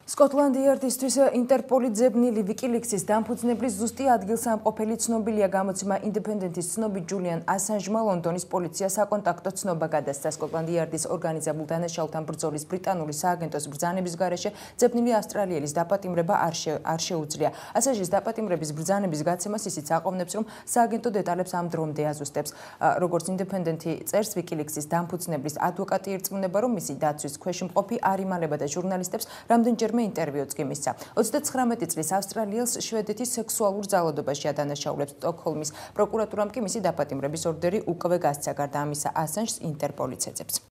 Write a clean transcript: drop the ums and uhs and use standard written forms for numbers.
სკოტლანდიარდისთვის ინტერპოლი ძებნილი ვიკილიქსის დამფუძნებლის ზუსტი ადგილსამყოფელი ცნობილია გამოცემა ინდეპენდენტის ცნობით ჯულიან ასანჟმა ლონდონის პოლიცია საკონტაქტო ცნობა გადასცა სკოტლანდიარდის ორგანიზებულ დანაშაულთან ბრძოლის ბრიტანული სააგენტოს ბრძანების გარეშე ძებნილი ავსტრალიელის დაპატიმრება არ შეუძლია. ასანჟის დაპატიმრების ბრძანების გაცემას ისიც აყოვნებს, რომ სააგენტო დეტალებს ამ დრომდე აზუსტებს. როგორც ინდეპენდენტი წერს, ვიკილიქსის დამფუძნებლის ადვოკატი ირწმუნება, რომ მისი დაცვის ქვეშ მყოფი არ იმალებდა და ჟურნალისტებს რამდენჯერმე ინტერვიუც კი მისცა. 39 წლის ავსტრალიელს შვედეთის სექსუალურ ძალადობაში ადანაშაულებს სტოკჰოლმის პროკურატურამ კი მისი დაპატიმრების ორდერი უკვე გასცა. გარდა ამისა, ასანჟს ინტერპოლიც ეძებს.